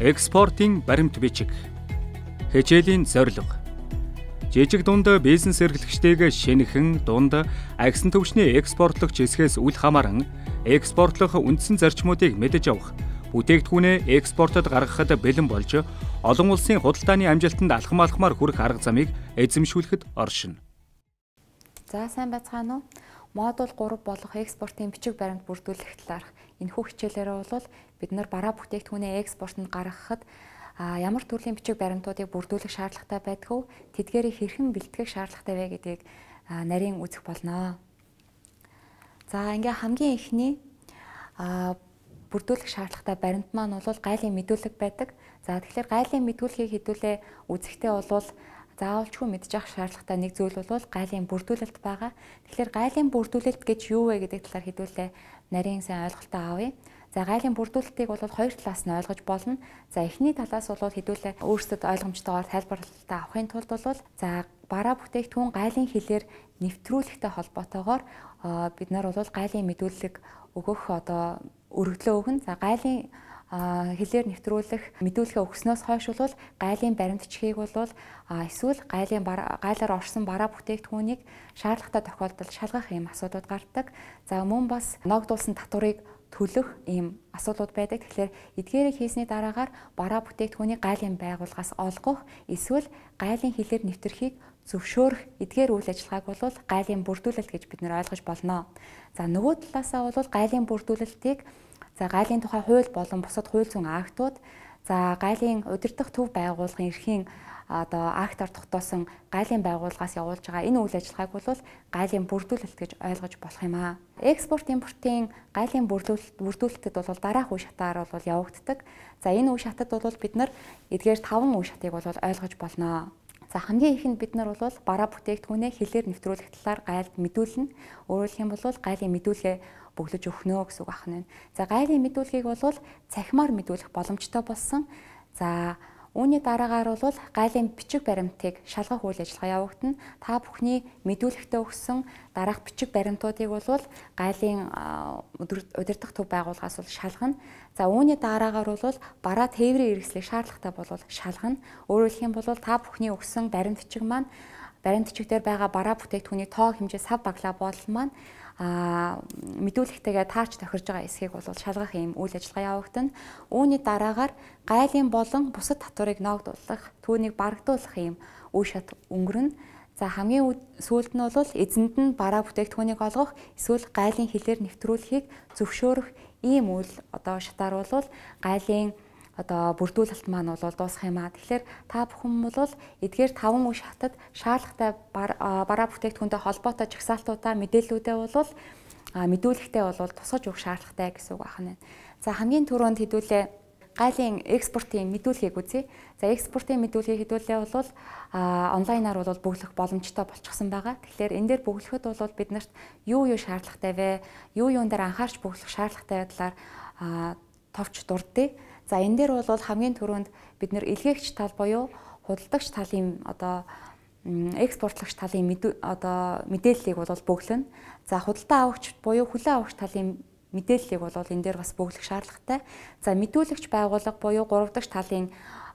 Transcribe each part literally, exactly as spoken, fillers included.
Экспортын баримт бичиг. Хичээлийн зорилго. Жижиг дунд бизнес эрхлэгчдийг шинэхэн дунд агсан түвшний экспортлогч хэсгээс үл хамааран экспортлох үндсэн зарчмуудыг мэдэж авах, бүтээгдэхүүнээ экспортод гаргахад бэлэн болж олон улсын худалдааны амжилтанд алхам алхмаар хүрэх арга замыг эзэмшүүлэхэд оршино. За сайн байцгаана уу? Модуль гурав болох экспортын бичиг баримт бүрдүүлэх талаарх энэхүү хичээлээрээ бол бид нар бараа бүтээгдэхүүнээ экспортод гаргахад ямар төрлийн бичиг баримтуудыг бүрдүүлэх шаардлагатай байдг вэ? Тэдгээрийг хэрхэн бэлтгэх шаардлагатай вэ гэдгийг нарийн үзэх болно. За ингээ хамгийн эхний бүрдүүлэх шаардлагатай баримт маань бол гайлын мэдүүлэг байдаг. За тэгэхээр гайлын мэдүүлгийг хэдүүлээ үзэхдээ бол заавалчгүй мэдчих шаардлагатай нэг зүйл бол гайлын бүрдүүлэлт байгаа. Тэгэхээр гайлын бүрдүүлэлт гэж юу вэ гэдэг талаар хэдүүлээ нарийн сайн ойлголтоо авъя. За гайлын бүрдүүлэлтийг бол хоёр талаас нь ойлгож болно. За эхний талаас бол хэдүүлээ өөрсдөд ойлгомжтойгоор тайлбарлалтаа авахын тулд бол за бараа бүтээгдэхүүн гайлын хэлээр нэвтрүүлэхтэй холбоотойгоор бид нар бол гайлын мэдүүлэг өгөх одоо өргөдлөө өгнө. За гайлын хэлээр нэвтрүүлэх мэдүүлгээ өгснөөс хойш бол гайлын баримтчгийг бол эсвэл гайлын гайлаар орсон бараа бүтээгдэхүүнийг шаардлагатай тохиолдолд шалгах ийм асуудлууд гардаг. За мөн бас ногдуулсан татварыг төлөх ийм асуудлууд байдаг. Тэгэхээр эдгээрийг хийсний дараагаар бараа бүтээгдэхүүнийг гайлын байгууллагаас олгох эсвэл гайлын хэлээр нэвтрэхийг зөвшөөрөх эдгээр үйл ажиллагааг бол гайлын бүрдүүлэлт гэж бид нэр ойлгож болно. За нөгөө талаасаа бол гайлын бүрдүүлэлтийг за гайлын тухай хууль болон бусад хууль зүйн актууд за гайлын удирдах төв байгууллагын эрхийн одоо актаар тогтоосон гайлын байгууллагаас явуулж байгаа энэ үйл ажиллагааг бол гайлын бүрдүүлэлт гэж ойлгож болох юм аа. Экспорт импортын гайлын бүрдүүлэлтэд бол дараах үе шатаар бол явагддаг. За энэ үе шатад бол бид нар эдгээр таван үе шатыг бол ойлгож болно. За хамгийн ихэнд бид нар бол бараа бүтээгдэхүүнээ хэлээр нэвтрүүлэх талаар гайлд мэдүүлнэ. Өөрөөр хэлэх юм бол гайлын мэдүүлгээ бөглөж өгнө гэсэн үг байна. За гайлын мэдүүлгийг бол цахимаар мэдүүлэх боломжтой болсон. За үүний дараагаар бол гайлын бичиг баримтыг шалгах үйл ажиллагаа явагдана. Та бүхний мэдүүлэгтээ өгсөн дараах бичиг баримтуудыг бол гайлын удирдах төв байгууллагаас бол шалгана. За үүний дараагаар бол бараа тээврийн хэрэгслийг шаардлагатай бол шалгана. Өөрөөр хэлэх юм бол та бүхний өгсөн баримт бичиг маань баримт бичигдэр байгаа бараа бүтээгдэхүүний тоо хэмжээ сав баглаа бодол маань а мэдүүлэгтэйгээ таарч тохирж байгаа эсхийг бол шалгах юм үйл ажиллагаа явагдана. Үүний дараагаар гайлын болон бусад татварыг ногдуулах, түүнийг барагдуулах юм үе шат өнгөрнө. За хамгийн сүүлд нь бол эзэнд нь бараа бүтээгдэхүүнийг олгох, эсвэл гайлын хэлээр нэвтрүүлэхийг зөвшөөрөх ийм үйл одоо шатаар бол гайлын одоо бүрдүүлэлт маань бол дуусах юм аа. Тэгэхээр та бүхэн бол эдгээр таван үе шатад шаардлагатай бараа бүтээгдэхүүнтэй холбоотой жагсаалтуудаа мэдээллүүдээ бол мэдүүлэгтээ бол тусгаж өгөх шаардлагатай гэсэн үг байна. За хамгийн түрүүнд хэдүүлээ гайлын экспортын мэдүүлгийг үзье. За экспортын мэдүүлгийг хэдүүлээ бол онлайнаар бол бөглөх боломжтой болчихсон байгаа. Тэгэхээр энэ дээр бөглөхөд бол бид нарт юу юу шаардлагатай вэ? Юу юун дээр анхаарч бөглөх шаардлагатай талаар товч дурдъя. За энэ дээр бол хамгийн түрүүнд бид нэр илгээгч тал буюу худалдагч талын одоо экспортлагч талын одоо мэдээллийг бол бөглөнө. За худалдаа авагч буюу хүлээн авагч талын мэдээллийг бол энэ дээр бас бөглөх шаардлагатай. За мэдүүлэгч байгууллага буюу гурав дахь талын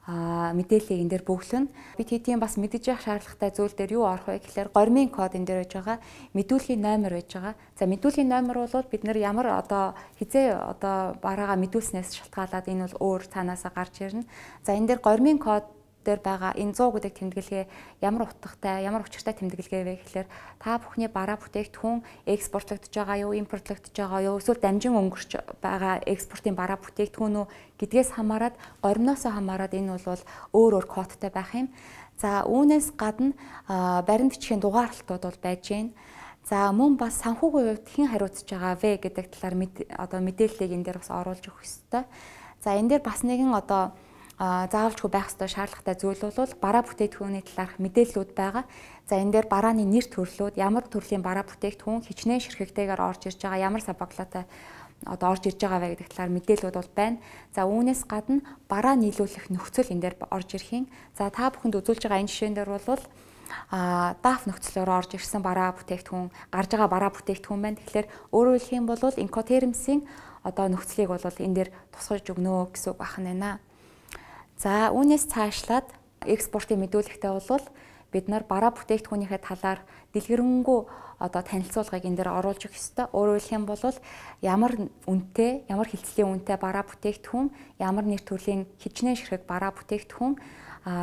мэдээллийг энэ дээр бөглөнө. Бид хэдийн бас мэдэж явах шаардлагатай зүйл дээр юу орох вэ гэхээр гормын код энэ дээр байж байгаа, мэдүүлгийн номер байж байгаа. За мэдүүлгийн номер бол бид нар ямар одоо хизээ одоо бараагаа мэдүүлснээс шалтгаалаад энэ бол өөр цаанаасаа гарч ирнэ. За энэ дээр гормын код дээр байгаа энэ сто гэдэг тэмдэглэгээ ямар утгатай, ямар учиртай тэмдэглэгээ вэ гэхээр та бүхний бараа бүтээгдэхүүн экспортлогдож байгаа юу, импортлогдож байгаа юу, эсвэл дамжин өнгөрч байгаа экспортын бараа бүтээгдэхүүн үү гэдгээс хамаарат, гормноосоо хамаарат энэ бол өөр өөр кодтай байх юм. За үүнээс гадна баримт бичгийн дугаарлалтууд бол байж гэн. За мөн бас санхүүгийн хувьд хэн хариуцж байгаа вэ гэдэг талаар одоо мэдээллийг энэ дээр бас оруулж өгөх ёстой. За энэ дээр бас нэгэн одоо заавалжгүй байх ёстой шаардлагатай зүйл бол бараа бүтээгдэхүүний талаарх мэдээллүүд байгаа. За энэ дээр барааны нэр төрлүүд, ямар төрлийн бараа бүтээгдэхүүн хичнээн ширхэгтэйгээр орж ирж байгаа, ямар сабаглаатай одоо орж ирж байгаа вэ гэдэг талаар мэдээллүүд бол байна. За үүнээс гадна бараа нийлүүлэх нөхцөл энэ дээр орж ирэх юм. За та бүхэнд үзүүлж байгаа энэ жишээн дээр бол а даф нөхцлөөр орж ирсэн бараа бүтээгдэхүүн, гарж байгаа бараа бүтээгдэхүүн байна. Тэгэхээр өөрөөр хэлэх юм бол инкотермсийн одоо нөхцөлийг бол энэ дээр тусгаж өгнө гэсэн үг байна. За үүнээс цаашлаад экспортын мэдүүлэгтээ бол бид нар бараа бүтээгдэхүүнийхээ талаар дэлгэрэнгүй одоо танилцуулгыг энэ дээр оруулж өгөх ёстой. Өөрөөр хэлэх юм бол ямар үнэтэй, ямар хилцлийн үнэтэй бараа бүтээгдэхүүн, ямар нэр төрлийн хичнээн ширхэг бараа бүтээгдэхүүн,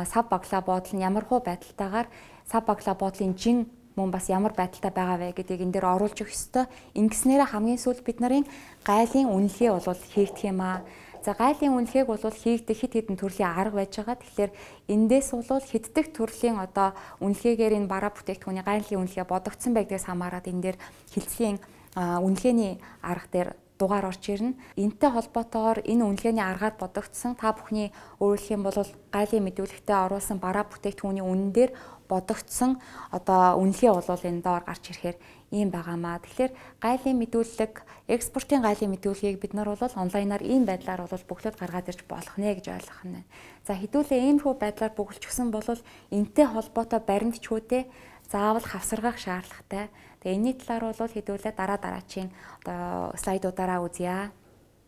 сав баглаа буудал нь ямар хуу байдалтайгаар сав баглаа буудлын жин мөн бас ямар байдалтай байгаа вэ гэдгийг энэ дээр оруулж өгөх ёстой. Ингэснээр хамгийн сүүлд бид нарын гайлын үнэлгээ бол хийгдэх юм аа. За гайлын үнэлгээг бол хийгдэх хэд хэдэн төрлийн арга байж байгаа. Тэгэхээр эндээс бол хэддэх төрлийн одоо үнэлгээгээр энэ бараа бүтээгдэхүүний гайлын үнэлгээ бодогдсон байдгаас хамаарат энэ дээр хилцлийн үнэлгээний арга дээр дугаар орж ирнэ. Энтэй холбоотойгоор энэ үнэлгээний аргаар бодогдсон та бүхний өөрөлдөх юм бол гайлын мэдүүлэгтээ оруулсан бараа бүтээгдэхүүний үнэн дээр бодогдсон одоо үнэлгээ бол энэ доор гарч ирэхээр ийм байгаамаа. Тэгэхээр гайлын мэдүүлэг, экспортын гайлын мэдүүлгийг бид нар бол онлайнаар ийм байдлаар бол бөглөд гаргаад ирж болох нэ гэж ойлгох нь. За хэдүүлээ иймэрхүү байдлаар бөглөчихсөн бол энтэй холбоотой баримтчгүүдээ заавал хавсаргах шаардлагатай. Тэгээ энэний талаар бол хэдүүлээ дараа дараачийн одоо слайдуудаараа үзье.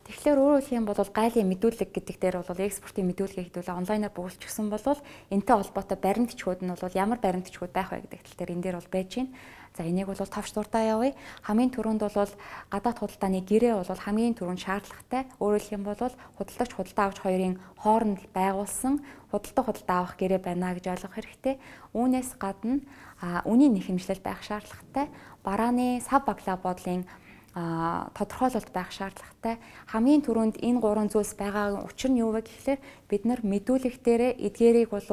Тэгэхээр өөрөөр хэлэх юм бол гайлын мэдүүлэг гэдэг дээр бол экспортын мэдүүлгээ хэдүүлээ онлайнаар бөглөчихсөн бол энтэй холбоотой баримтчгүүд нь бол ямар баримтчгүүд байх вэ гэдэг тал дээр энэ дээр бол байж байна. За энийг бол товч дурдаа явъя. Хамгийн түрүүнд бол гадаад худалдааны гэрээ бол хамгийн түрүүнд шаардлагатай. Өөрөөр хэлэх юм бол худалдагч худалдаа авагч хоёрын хооронд байгуулсан худалдаа худалдаа авах гэрээ байна гэж ойлгох хэрэгтэй. Үүнээс гадна үнийн нэхэмжлэл байх шаардлагатай. Барааны сав баглаа буудлын а тодорхойлолт байх шаардлагатай. Хамгийн түрүүнд энэ гурван зүйлс байгаа учир нь юу вэ гэхлээр бид нар мэдүүлэг дээрээ эдгээрийг бол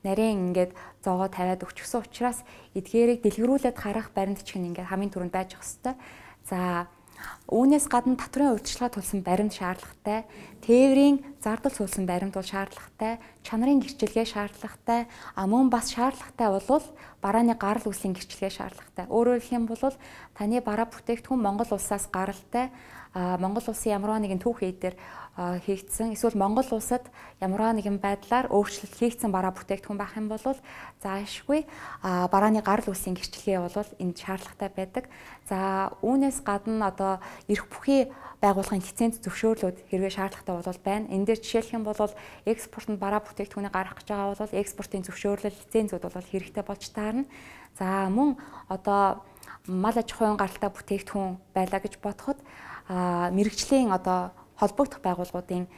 нарийн ингээд зоогоо тавиад өгчихсөн учраас эдгээрийг дэлгэрүүлээд харах баримтчиг нь ингээд хамгийн түрүүнд байж ах хэвээр. За үүнээс гадна татврын урьдчилгаа тулсан баримт шаардлагатай, тээврийн зардал суулсан баримт бол шаардлагатай, чанарын гэрчилгээ шаардлагатай, а мөн бас шаардлагатай бол барааны гарал үүслийн гэрчилгээ шаардлагатай. Өөрөөр хэлэх юм бол таны бараа бүтээгдэхүүн Монгол улсаас гаралтай, Монгол улсын ямар нэгэн түүх дээр хийгдсэн, эсвэл Монгол улсад ямар нэгэн байдлаар өөрчлөлт хийгдсэн бараа бүтээгдэхүүн байх юм бол заашгүй барааны гарал үүслийн гэрчилгээ бол энд шаардлагатай байдаг. За үүнээс гадна одоо эрх бүхий байгууллагын лиценз зөвшөөрлүүд хэрвээ шаардлагатай бол байна. Энэ дээр жишээлх юм бол экспортод бараа бүтээгдэхүүнийг гаргах гэж байгаа бол экспортын зөвшөөрлөл лицензүүд бол хэрэгтэй болж таарна. За мөн одоо мал аж ахуйн гаралтай бүтээгдэхүүн байлаа гэж бодоход мэрэгжлийн одоо холбогдох байгууллагуудын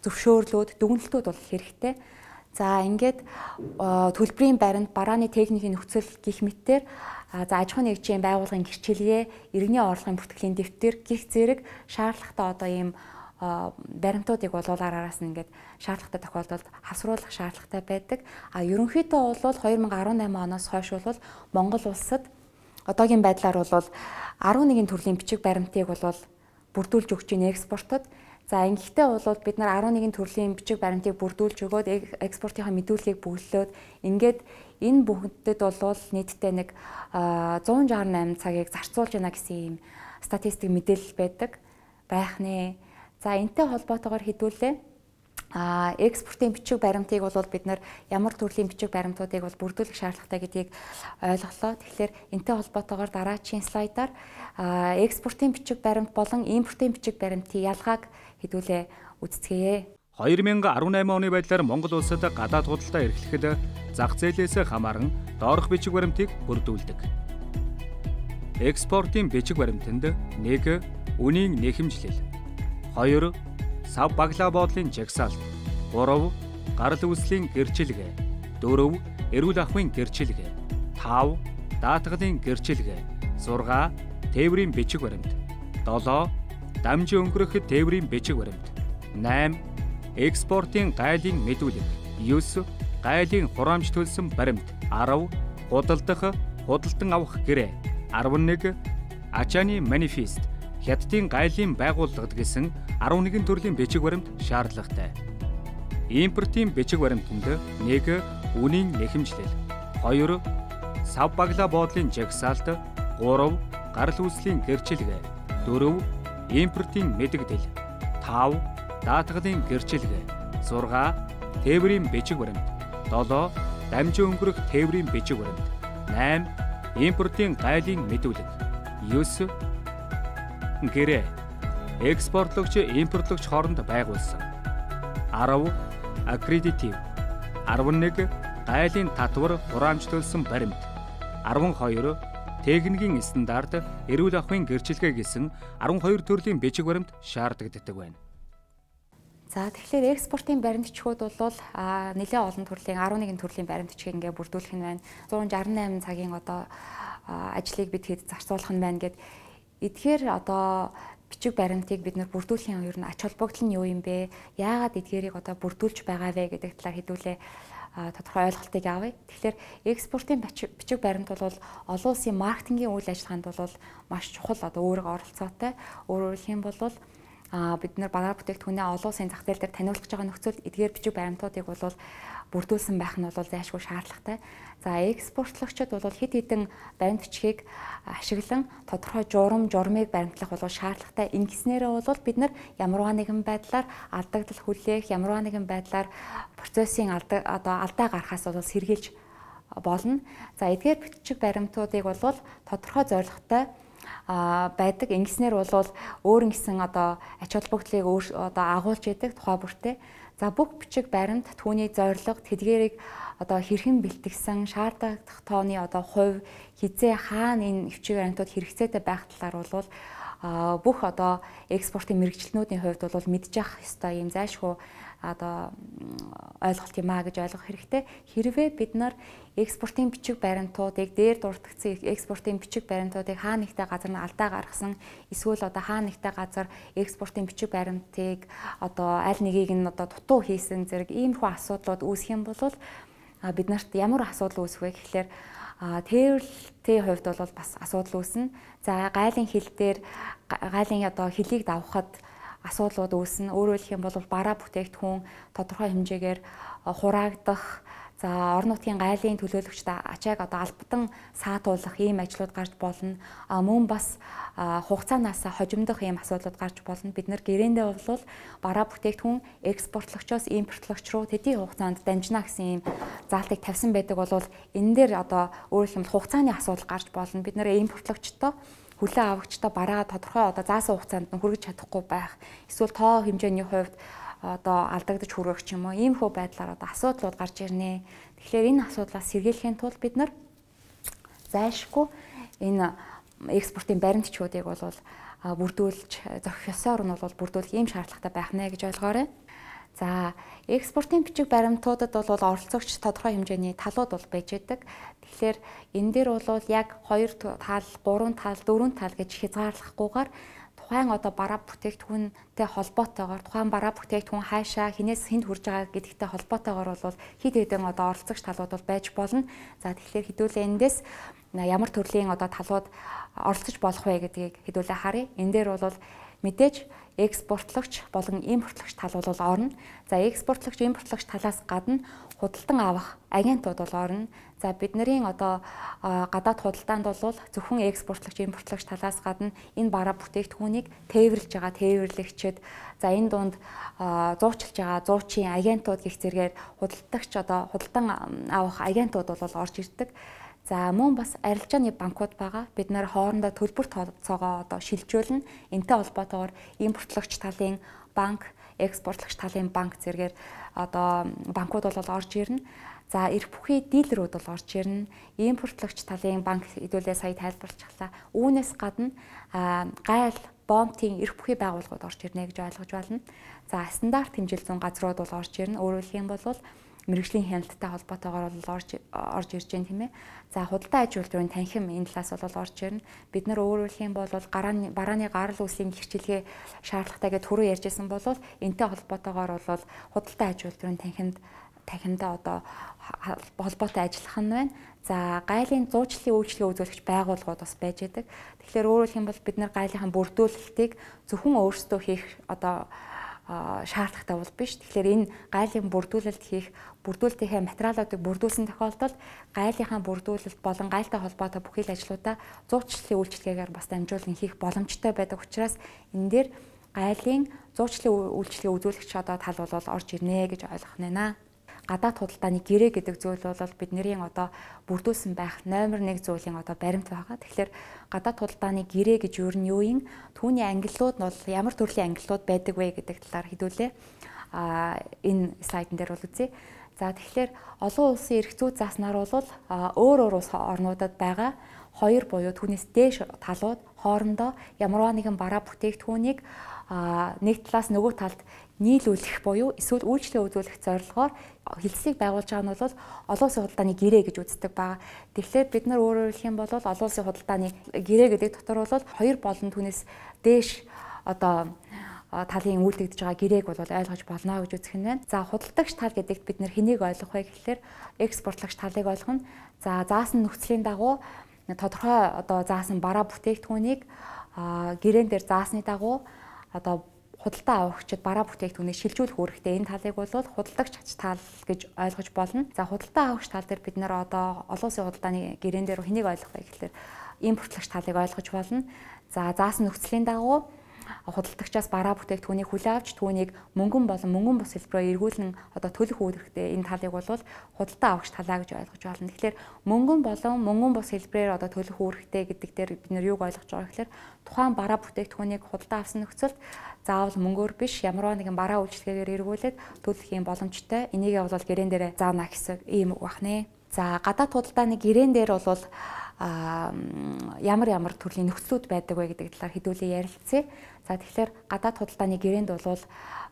зөвшөөрлүүд, дүгнэлтүүд бол хэрэгтэй. За ингээд төлбөрийн баримт, барааны техникийн нөхцөл гэх мэтээр за аж ахуйн нэгжийн байгууллагын гэрчилгээ, иргэний орлогын бүртгэлийн дэвтэр гэх зэрэг шаардлагатай одоо ийм баримтуудыг бол араас нь ингээд шаардлагатай тохиолдолд хавсруулах шаардлагатай байдаг. А ерөнхийдөө бол две тысячи десять оноос хойш бол Монгол улсад одоогийн байдлаар бол арван нэгэн төрлийн бичиг баримтыг бол бүрдүүлж өгч байна экспортод. За ингэхдээ бол бид нар арван нэгэн төрлийн бичиг баримтыг бүрдүүлж өгөөд экспортынхаа мэдүүлгийг бүглөөд ингээд энэ бүхэнд бол нийтдээ нэг one sixty eight цагийг зарцуулж байна гэсэн ийм статистик мэдээлэл байдаг байх нэ. За энэтэй холбоотойгоор хэдүүлээ а экспортын бичиг баримтыг бол бид нар ямар төрлийн бичиг баримтуудыг бол бүрдүүлэх шаардлагатай гэдгийг ойлголоо. Тэгэхээр энэтэй холбоотойгоор дараачийн слайдаар экспортын бичиг баримт болон импортын бичиг баримтын ялгааг хэдүүлээ үздэцгээе. two thousand eighteen оны байдлаар Монгол улсад гадаад худалдаа эрхлэхэд зах зээлээс хамааран доорх бичиг баримтыг бүрдүүлдэг. Экспортын бичиг баримтанд нэг үнийн нэхэмжлэл, хоёр сав баглаа буудлын жагсаалт, гурав гарал үүслийн гэрчилгээ, дөрөв эрүүл ахуйн гэрчилгээ, тав даатгалын гэрчилгээ, зурга тээврийн бичиг баримт, долоо дамжин өнгөрөх тээврийн бичиг баримт, найман экспортын гайлын мэдүүлэг, девять гайлын хураамж төлсөн баримт, ten худалдах, худалдан авах гэрээ, eleven ачааны манифест, хятадын гайлын байгууллагад гэсэн арван нэгэн төрлийн бичиг баримт шаардлагатай. Импортын бичиг баримтанд нэг үнийн нэхэмжлэл, хоёр сав баглаа буудлын жагсаалт, гурав гарал үүслийн гэрчилгээ, дөрөв импортын мэдэгдэл, тав даатгалын гэрчилгээ, зурга тээврийн бичиг баримт, долоо дамжин өнгөрөх тээврийн бичиг баримт, найман импортын гайлын мэдүүлэг, девять гэрээ экспортлогч импортлогч хооронд байгуулсан, ten аккредитив, арван нэг гайлын татвар хураамжлуулсан баримт, арван хоёр техникийн стандарт, эрүүл ахуйн гэрчилгээ гэсэн арван хоёр төрлийн бичиг баримт шаардагддаг байна. За тэгэхээр экспортын баримтчгууд бол нэлээд олон төрлийн арван нэгэн төрлийн баримтчгийг ингээ бүрдүүлэх нь байна. зуун шарсан найман цагийн одоо ажлыг бид хэд зарцуулах нь байна гэд эдгээр одоо бичиг баримтыг бид нар бүрдүүлэхийн ер нь ач холбогдол нь юу юм бэ? Яагаад эдгээрийг одоо бүрдүүлж байгаа вэ гэдэг талаар хэдүүлээ тодорхой ойлголтыг авъя. Тэгэхээр экспортын бичиг баримт бол олон улсын маркетингийн үйл ажиллагаанд бол маш чухал одоо өөрийгөө оролцоотой. Өөрөөр хэлэх юм бол а бид нар бараа бүтээгдэхүүнээ олон улсын зах зээл дээр таниулах гэж байгаа нөхцөлд эдгээр бичиг баримтуудыг бол бүрдүүлсэн байх нь бол зайлшгүй шаардлагатай. За экспортлогчид бол хэд хэдэн баримтчгийг ашиглан тодорхой журам, журмыг баримтлах бол шаардлагатай. Ингэснээрээ бол бид нар ямарваа нэгэн байдлаар алдагдал хүлээх, ямарваа нэгэн байдлаар процессын алдаа одоо алдаа гарахаас бол сэргийлж болно. За эдгээр бичиг баримтуудыг бол тодорхой зорилготой а байдаг. Ингэснээр бол өөр ингэсэн одоо ач холбогдлыг өөр одоо агуулж яадаг тухай бүртээ. За бүх бичиг баримт түүний зорилго, тэдгээрийг одоо хэрхэн бэлтгэсэн, шаардлагатай тооны одоо хувь, хизээ хаана энэ бичиг баримтууд хэрэгцээтэй байх талаар бол бүх одоо экспортын мэргэжилтнүүдийн хувьд бол мэдчих ёстой юм зайлшгүй одоо ойлголт юм а гэж ойлгох хэрэгтэй. Хэрвээ бид нар экспортын бичиг баримтуудыг дээр дуртагдсан экспортын бичиг баримтуудыг хаа нэгтэй газар нь алдаа гаргасан эсвэл одоо хаа нэгтэй газар экспортын бичиг баримтыг одоо аль нэгийг нь одоо дутуу хийсэн зэрэг иймэрхүү асуудлууд үүсэх юм бол бид нарт ямар асуудал үүсэх вэ гэхлээр тээвэрлэлтийн хувьд бол бас асуудал үүснэ. За гайлын хил дээр гайлын одоо хилийг давхад асуудлууд үүснэ. Өөрөөр хэлэх юм бол бараа бүтээгдэхүүн тодорхой хэмжээгээр хураагдах, за орон нутгийн гайлын төлөөлөгчд ачааг одоо албадан саатуулах ийм ажлууд гарч болно. А мөн бас хугацаанаас хожимдох ийм асуудлууд гарч болно. Бид нар гэрээндээ бол бараа бүтээгдэхүүн экспортлогчоос импортлогч руу төдий хугацаанд дамжина гэсэн ийм заалтыг тавьсан байдаг бол энэ дээр одоо өөрөөр хэлбэл хугацааны асуудал гарч болно. Бид нэр импортлогчтой хүлээн авагчтай бараа тодорхой одоо заасан хугацаанд нь хүргэж чадахгүй байх. Эсвэл тоо хэмжээний хувьд одоо алдагдаж хүргэх ч юм уу ийм хөө байдлаар одоо асуудлууд гарч ирнэ. Тэгэхээр энэ асуудлаас сэргийлэхийн тулд бид нар зайлшгүй энэ экспортын баримтчуудыг бол бүрдүүлж зохих ёсоор нь бол бүрдүүлэх ийм шаардлагатай байх нэ гэж ойлгоорой. За экспортын бичиг баримтуудад бол оролцогч тодорхой хэмжээний талууд бол байж байдаг. Тэгэхээр энэ дээр бол яг хоёр тал, гурван тал, дөрвөн тал гэж хязгаарлахгүйгээр тухайн одоо бараа бүтээгдэхүүнтэй холбоотойгоор тухайн бараа бүтээгдэхүүн хаашаа хинээс хэнд хүрж байгаа гэдэгтэй холбоотойгоор бол хэд хэдэн одоо оролцогч талууд бол байж болно. За тэгэхээр хэдүүлээ эндээс ямар төрлийн одоо талууд оролцож болох вэ гэдгийг хэдүүлээ харъя. Энэ дээр бол мэдээж экспортлогч болон импортлогч тал бол орно. За экспортлогч, импортлогч талаас гадна худалдан авах агентууд бол орно. За бидний одоо гадаад худалдаанд бол зөвхөн экспортлогч, импортлогч талаас гадна энэ бараа бүтээгдэхүүнийг тээвэрлж байгаа тээвэрлэгчид, за энэ дунд зуучилж байгаа зуучийн агентууд гэх зэргээр худалдагч одоо худалдан авах агентууд бол орж ирдэг. За мөн бас арилжааны банкуд байгаа. Бид нэр хоорондоо төлбөр тооцоогоо одоо шилжүүлнэ. Энтэй холбоотойгоор импортлогч талын банк, экспортлогч талын банк зэргээр одоо банкуд бол орж ирнэ. За эрх бүхий дилерүүд бол орж ирнэ. Импортлогч талын банк хэдүүлээ сая тайлбарлчихлаа. Үүнээс гадна гайл, бомтын эрх бүхий байгууллагууд орж ирнэ гэж ойлгож байна. За стандарт хэмжил зүйн газрууд бол орж ирнэ. Өөрөөр хэлэх юм бол мэргэжлийн хяналттай холбоотойгоор бол орж орж ирж байна тийм ээ. За худалдаа аж үйлдвэрийн танхим энэ талаас бол орж ирнэ. Бид нар өөрөөр хэлэх юм бол гарааны барааны гарал үүслийн гэрчилгээ шаардлагатай гэж түрүү ярьжсэн бол энтэй холбоотойгоор бол худалдаа аж үйлдвэрийн танхимд танхимдаа одоо холбоотой ажиллах нь байна. За гайлын зуучлалын үйлчлэгээ үзүүлэгч байгууллагууд бас байж байдаг. Тэгэхээр өөрөөр хэлэх юм бол бид нар гайлынхаа бүрдүүлэлтийг зөвхөн өөрсдөө хийх одоо шаардлагатай бол биш. Тэгэхээр энэ гайлын бүрдүүлэлт хийх, бүрдүүлэлтийнхээ материалуудыг бүрдүүлсэн тохиолдолд гайлынхаа бүрдүүлэлт болон гайлтай холбоотой бүхий л ажлуудаа зуучлалын үйлчилгээгээр бас дамжуулан хийх боломжтой байдаг учраас энэ дээр гайлын зуучлалын үйлчилгээ үзүүлэгч одоо тал бол орж ирнэ гэж ойлгох нэ. Гадаад худалдааны гэрээ гэдэг зүйл бол бидний одоо бүрдүүлсэн байх номер нэг зүйлийн одоо баримт байгаа. Тэгэхээр гадаад худалдааны гэрээ гэж юу нь юу юм? Түүний ангиллууд нь бол ямар төрлийн ангиллууд байдаг вэ гэдэг талаар хэдүүлээ. энэ слайдн дээр бол үзье. За тэгэхээр олон улсын эрх зүйн зааснаар бол өөр өөр улс орнуудад байгаа хоёр буюу түүнээс дээш талууд хоорондоо ямарваа нэгэн бараа бүтээгдэхүүнийг нэг талаас нөгөө талд нийлүүлэх буюу эсвэл үйлчлэл үзүүлэх зорилгоор хэлцлийг байгуулж байгаа нь бол олон улсын худалдааны гэрээ гэж үздэг байгаа. Тэгэхээр бид нар өөрөөр хэлэх юм бол олон улсын худалдааны гэрээ гэдэг дотор бол хоёр болон түүнээс дээш одоо талын үйлдэгдэж байгаа гэрээг бол ойлгож болно гэж үзэх нь байна. За худалдагч тал гэдэгт бид нар хэнийг ойлгох вэ гэхээр экспортлогч талыг ойлгоно. За заасан нөхцөлийн дагуу тодорхой одоо заасан бараа бүтээгдэхүүнийг гэрээн дээр заасны дагуу одоо худалдаа авагчид бараа бүтээгдэхүүнийг шилжүүлэх үүрэгтэй энэ талыг бол худалдагч тал гэж ойлгож болно. За худалдаа авагч тал дээр бид нар одоо олон улсын худалдааны гэрээн дээр хэнийг ойлгох вэ гэхээр импортлогч талыг ойлгож болно. За заасан нөхцөлийн дагуу худалдагчаас бараа бүтээгдэхүүнийг хүлээн авч түүнийг мөнгөн болон мөнгөн бус хэлбэрээр эргүүлэн одоо төлөх үүрэгтэй энэ талыг бол худалдаа авагч талаа гэж ойлгож байна. Тэгэхээр мөнгөн болон мөнгөн бус хэлбэрээр одоо төлөх үүрэгтэй гэдэг дээр бид нэр юуг ойлгож байгаа гэхээр тухайн бараа бүтээгдэхүүнийг худалдаа авсан нөхцөлд заавал мөнгөөр биш ямарваа нэгэн бараа үйлчлэгээр эргүүлээд төлөх юм боломжтой. Энийгээ бол гэрээн дээр заана гэсэн ийм үг байна. За гадаад худалдааны гэрээн дээр бол а ямар ямар төрлийн нөхцлүүд байдаг вэ гэдэг талаар хэдүүлээ ярилцъя. За тэгэхээр гадаад худалдааны гэрээнд бол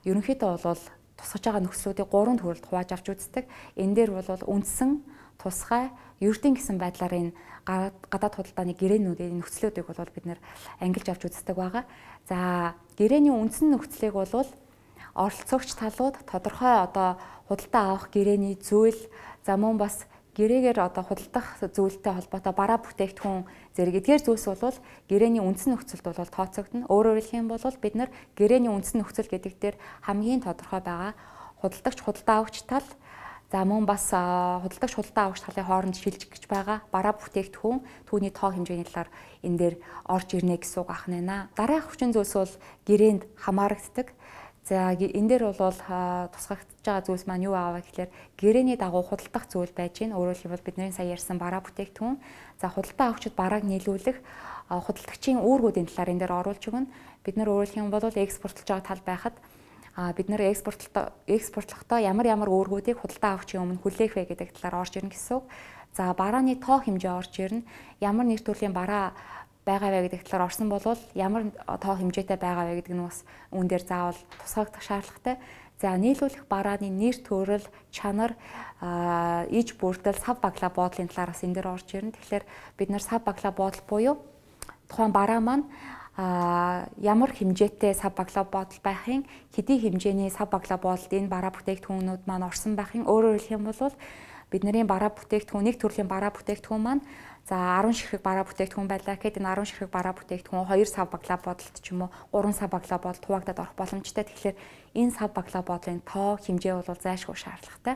ерөнхийдөө бол тусгаж байгаа нөхцлүүдийг гурван төрөлд хувааж авч үздэг. Энэ дээр бол үндсэн, тусгай, ердийн гэсэн байдлаар энэ гадаад худалдааны гэрээнүүдийн нөхцлүүдийг бол бид нэр ангилж авч үздэг байгаа. За гэрээний үндсэн нөхцлийг бол оролцогч талууд тодорхой одоо худалдаа авах гэрээний зүйл, за мөн бас гэрээгээр одоо худалдах зүйлтэй холбоотой бараа бүтээгдэхүүн зэрэг эдгээр зүйлс бол гэрээний үндсэн нөхцөлд бол тооцогдно. Өөрөөр хэлэх юм бол бид нар гэрээний үндсэн нөхцөл гэдэг дээр хамгийн тодорхой байгаа худалдагч худалдаа авагч тал, за мөн бас худалдагч худалдаа авагч талын хооронд шилжих гэж байгаа бараа бүтээгдэхүүн түүний тоо хэмжээний талаар энэ дээр орж ирнэ гэсэн үг ахна. Дараах хүчин зүйлс бол гэрээнд хамаарагддаг. За энэ дээр бол тусгагдж байгаа зүйлс маань юу ааваа гэхээр гэрээний дагуу худалдах зүйл байж гин. Өөрөөр хэлбэл бидний сая ярьсан бараа бүтээгдэхүүн. За худалдаа авагчид барааг нийлүүлэх худалдагчийн үүргүүдийн талаар энэ дээр оруулж өгнө. Бид нар өөрөөр хэлэх юм бол экспортлж байгаа тал байхад бид нар экспортлоо экспортлохдоо ямар ямар үүргүүдийг худалдаа авагчийн өмнө хүлээх вэ гэдэг талаар орж ирнэ гэсэн үг. За барааны тоо хэмжээ орж ирнэ. Ямар нэг төрлийн бараа байгаа вэ гэдэг талаар орсон бол ямар тоо хэмжээтэй байгаа вэ гэдэг нь бас үүн дээр заавал тусгагдах шаардлагатай. За нийлүүлэх барааны нэр төрөл, чанар, иж бүрдэл, сав баглаа буудлын талаар бас энэ дээр орж ирнэ. Тэгэхээр бид нар сав баглаа буудал буюу тухайн бараа маань ямар хэмжээтэй сав баглаа буудал байхын, хэдий хэмжээний сав баглаа буудалд энэ бараа бүтээгдэхүүнүүд маань орсон байхын өөрөөр хэлэх юм бол бидний бараа бүтээгдэхүүн нэг төрлийн бараа бүтээгдэхүүн маань за арван ширхэг бараа бүтээгдэхүүн байлаа гэхэд энэ арван ширхэг бараа бүтээгдэхүүн хоёр сав баглаа бодолт ч юм уу гурван сав баглаа бодолт хуваагдаад орох боломжтой. Тэгэхээр энэ сав баглаа бодлын тоо хэмжээ бол зайлшгүй шаардлагатай.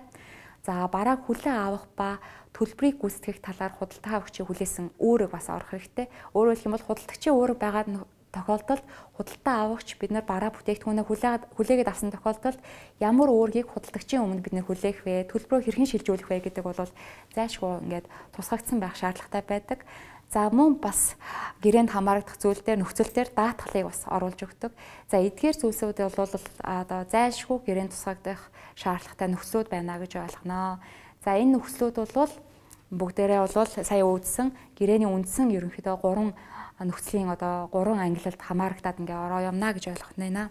За барааг хүлээн авах ба төлбөрийг гүйцэтгэх талаар худалдаа авагчийн хүлээсэн үүрэг бас орох хэрэгтэй. Өөрөөр хэлэх юм бол худалдагчийн үүрэг байгаа тохиолдолд худалдаа авагч бид нар бараа бүтээгдэхүүнээ хүлээгээд авсан тохиолдолд ямар үүргийг худалдагчийн өмнө бид нар хүлээх вэ, төлбөрөө хэрхэн шилжүүлэх вэ гэдэг бол зайлшгүй ингээд тусгагдсан байх шаардлагатай байдаг. За мөн бас гэрээнд хамаарагдах зүйл дээр нөхцөл дээр даатгалыг бас оруулж өгдөг. За эдгээр зүйлсүүд бол одоо зайлшгүй гэрээнд тусгагдах шаардлагатай нөхцлүүд байна гэж ойлгоно. За энэ нөхцлүүд бол бүгдээрээ бол сая үүдсэн гэрээний үндсэн ерөнхийдөө гурван нөхцөлийн одоо гурван ангилалд хамаарагдаад ингээ ороо юмна гэж ойлгох нэна.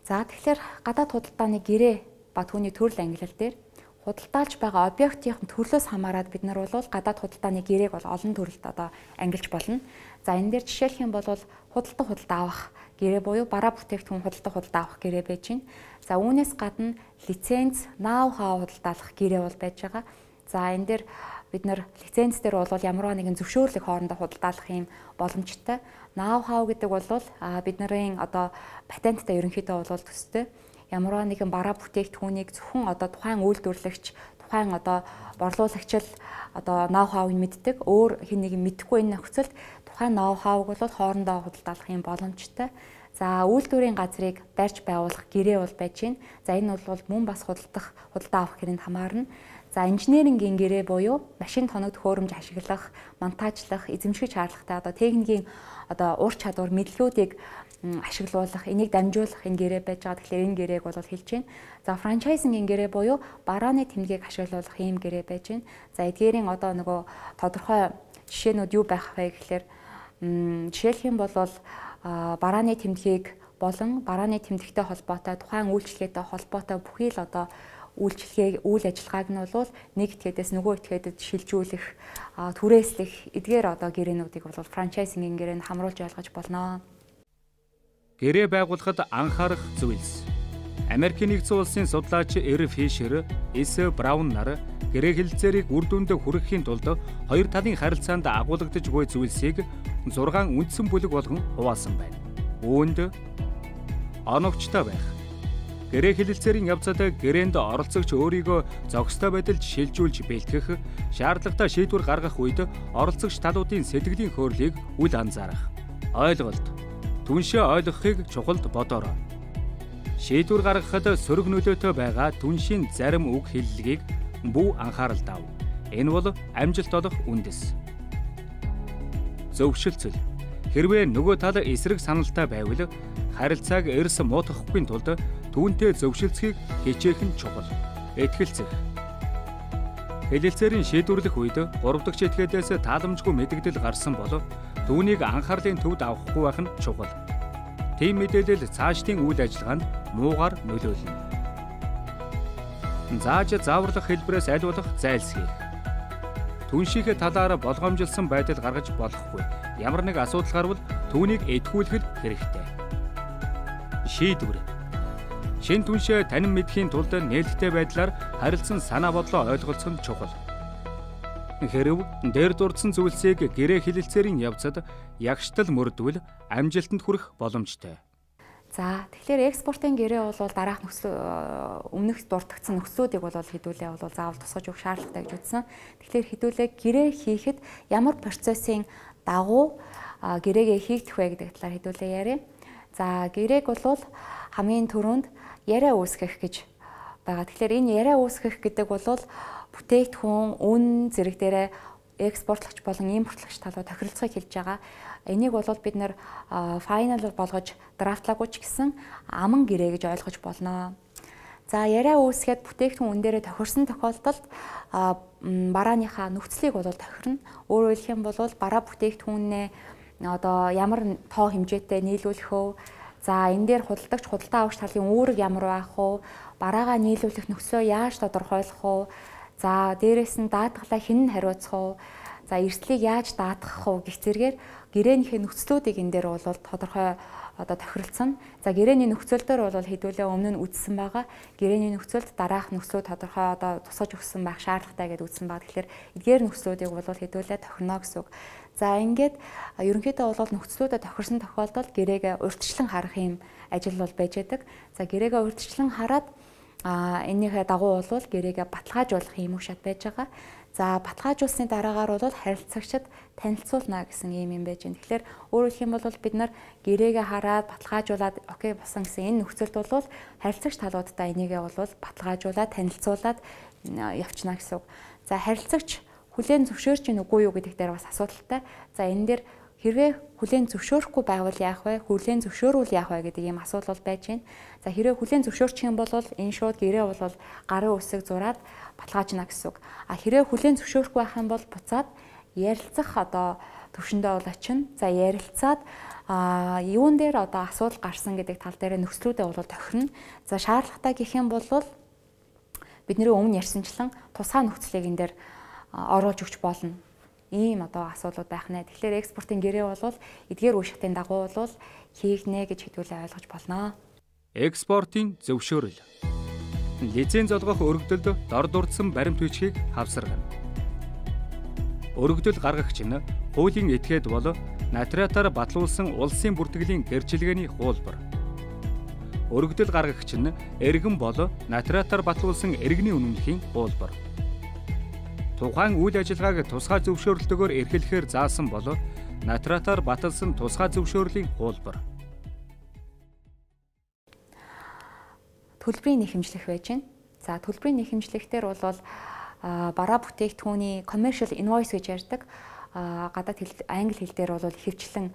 За тэгэхээр гадаад худалдааны гэрээ ба түүний төрөл ангилал дээр худалдаалж байгаа объектийн төрлөөс хамаарат бид нар бол гадаад худалдааны гэрээг бол олон төрөлд одоо ангилж болно. За энэ дээр жишээлх юм бол худалдан худалдаа авах гэрээ буюу бараа бүтээгдэхүүн худалдан худалдаа авах гэрээ байж гин. За үүнээс гадна лиценз, ноу хау худалдаалах гэрээ бол байж байгаа. За энэ дээр бид нар лиценз дээр бол ямарваа нэгэн зөвшөөрлөг хоорондоо худалдаалах юм боломжтой. Ноу хау гэдэг бол бид нарын одоо патенттай ерөнхийдөө бол төстэй. Ямарваа нэгэн бараа бүтээгдэхүүнийг зөвхөн одоо тухайн үйлдвэрлэгч, тухайн одоо борлуулагч л одоо ноу хауыг мэддэг. Өөр хэн нэг мэдэхгүй энэ нөхцөлд тухайн ноу хауг бол хоорондоо худалдаалах юм боломжтой. За үйлдвэрийн газрыг барьж байгуулах гэрээ бол байж гин. За энэ бол мөн бас худалдах, худалдаа авах гэрээнд хамаарна. За инженерингийн гэрээ буюу машин тоног төхөөрөмж ашиглах, монтажлах, эзэмших шаардлагатай одоо техникийн одоо ур чадвар мэдлүүдийг ашиглуулах, энийг дамжуулах энэ гэрээ байж байгаа. Тэгэхээр энэ гэрээг бол хэлж байна. За франчайзингийн гэрээ буюу барааны тэмдгийг ашиглуулах ийм гэрээ байж байна. За эдгээрийн одоо нөгөө тодорхой жишээнүүд юу байх вэ гэхээр жишээлх юм бол барааны тэмдгийг болон барааны тэмдэгтэй холбоотой тухайн үйлчлэгээтэй холбоотой бүхий л одоо үйлчлэгээ үйл ажиллагааг нь бол нэг этгээдээс нөгөө этгээдэд шилжүүлэх, түрээслэх эдгээр одоо гэрээнүүдийг бол франчайзингийн гэрээнд хамруулж ойлгож болно. Гэрээ байгуулахад анхаарах зүйлс. Америкийн нэгдсэн улсын судлаач Эр Фишер, Эс Браун нар гэрээ хэлэлцээрийг үр дүнд хүрэхийн тулд хоёр талын харилцаанд агуулгадж буй зүйлсийг зургаан үндсэн бүлэг болгон хуваасан байна. Үүнд оновчтой байх. Гэрээ хэлэлцээрийн явцад гэрээнд оролцогч өөрийгөө зохистой байдалд шилжүүлж бэлтгэх, шаардлагатай шийдвэр гаргах үед оролцогч талуудын сэтгэлийн хөөрлийг үл анзаарах. Ойлголт. Түншээ ойлгохыг чухалд бодоорой. Шийдвэр гаргахад сөрөг нөлөөтэй байгаа түншийн зарим үг хэллэгийг бүү анхааралд ав. Энэ бол амжилт олох үндэс. Зөвшөлтсөл. Хэрвээ нөгөө тал эсрэг саналтай байвал харилцааг эрс муутгахгүй тулд түүнтэй зөвшөлдсөхийг хичээх нь чухал. Этгэлцэх. Хэлэлцээрийн шийдвэрлэх үед гурав дахь этгээдээс тааламжгүй мэдэгдэл гарсан бол түүнийг анхаарлын төвд авахгүй байх нь чухал. Тийм мэдээлэл цаашдын үйл ажиллагаанд муугар нөлөөлнө. Зааж зааварлах хэлбэрээс аль болох зайлсхийх. Түншийнхээ талаар болгоомжилсан байдал гаргаж болохгүй. Ямар нэг асуудал гарвал түүнийг эдгүүлэх хэрэгтэй. Шийдвэр. Шин түншээ танин мэдхийн тулд нээлттэй байдлаар харилцан санаа бодлоо ойлголцох нь чухал. Хэрв дээр дурдсан зүйлсийг гэрээ хэлэлцээрийн явцад ягштал мөрдвөл амжилтанд хүрэх боломжтой. За тэгэхээр экспортын гэрээ бол дараах нөхцөл өмнөх дурдгдсан нөхцлүүдийг бол хэдүүлээ бол заавал тусгаж өгөх шаардлагатай гэж үзсэн. Тэгэхээр хэдүүлээ гэрээ хийхэд ямар процессын дагуу гэрээгээ хийгдэх вэ гэдэг талаар хэдүүлээ яриа. За гэрээг бол хамгийн түрүүнд яриа үүсгэх гэж байгаа. Тэгэхээр энэ яриа үүсгэх гэдэг бол бүтээгдэхүүн, үн зэрэг дээрээ экспортлогч болон импортлогч талууд тохиролцоог хэлж байгаа. Энийг бол бид нэр файнал болгож драфтлаагүй ч гэсэн аман гэрээ гэж ойлгож болно. За яриа үүсгээд бүтээгдэхүүн үн дээрээ тохирсон тохиолдолд барааныхаа нөхцөлийг бол тохирно. Өөрөөр хэлэх юм бол бараа бүтээгдэхүүнээ одоо ямар тоо хэмжээтэй нийлүүлэх вэ? За энэ дээр худалдагч худалдаа авагч талын үүрэг ямар байх вэ? Бараагаа нийлүүлэх нөхцөлөө яаж тодорхойлох вэ? За дээрээс нь даатгалаа хэн нь хариуцах вэ? За эрсдлийг яаж даатгах вэ гэх зэргээр гэрээнийхээ нөхцлүүдийг энэ дээр бол тодорхой одоо тохиролцсон. За гэрээний нөхцөл дээр бол хэдүүлээ өмнө нь үзсэн байгаа. Гэрээний нөхцөлд дараах нөхцлүүд тодорхой одоо тусгаж өгсөн байх шаардлагатай гэдээ үзсэн байгаа. Тэгэхээр эдгээр нөхцлүүдийг бол хэдүүлээ тохирно гэсэн үг. За ингээд ерөнхийдөө бол нөхцлүүдэд тохирсон тохиолдолд гэрээгээ урьдчилан харах юм ажил бол байж байдаг. За гэрээгээ урьдчилан хараад а энийхээ дагуу бол гэрээгээ баталгаажуулах юм уу шат байж байгаа. За баталгаажуулсны дараагаар бол харилцагчид танилцуулна гэсэн юм юм байж байна. Тэгэхээр өөрөөр хэлэх юм бол бид нар гэрээгээ хараад баталгаажуулаад окей болсон гэсэн энэ нөхцөлд бол харилцагч талуудтай энийгээ бол баталгаажуулаад танилцуулаад явчихна гэсэн үг. За харилцагч хүлээн зөвшөөрч гин үгүй юу гэдэг дээр бас асуудалтай. За энэ дээр хэрвээ хүлээн зөвшөөрөхгүй байвал яах вэ? Хүлээн зөвшөөрвөл яах вэ гэдэг ийм асуудал байж байна. За хэрвээ хүлээн зөвшөөрчих юм бол энэ шууд гэрээ бол гарын үсэг зураад баталгаажна гэсэн үг. А хэрвээ хүлээн зөвшөөрөхгүй байх юм бол буцаад ярилцах одоо төвшөндөө бол очино. За ярилцаад а юун дээр одоо асуудал гарсан гэдэг тал дээр нөхцлүүдээ бол тохирно. За шаардлагатай гэх юм бол бидний өмнө ярьсанчлан тусгай нөхцөлийг энэ дээр оруулж өгч болно. Ийм одоо асуудлууд байх нэ. Тэгэхээр экспортын гэрээ бол эдгээр үе шатын дагуу бол хийгнэ гэж хэдүүлээ ойлгож болно. Экспортын зөвшөөрөл. Лиценз олгох өргөдөлд дор дурдсан баримт бичгийг хавсаргана. Өргөдөл гаргагч нь хуулийн этгээд бол нотариатаар батлуулсан улсын бүртгэлийн гэрчилгээний хуулбар. Өргөдөл гаргагч нь эргэн бол нотариатаар батлуулсан эргэний үнэмлэхийн хуулбар. Тухайн үйл ажиллагааг тусгай зөвшөөрлөлтөөр эрхлэхээр заасан бол нотариатаар баталсан тусгай зөвшөөрлийн хуулбар. Төлбөрийн нэхэмжлэх байж байна. За төлбөрийн нэхэмжлэхтэр бол бараа бүтээгдэхүүний commercial invoice гэж ярьдаг. Гадаад хэл англи хэл дээр бол ихэвчлэн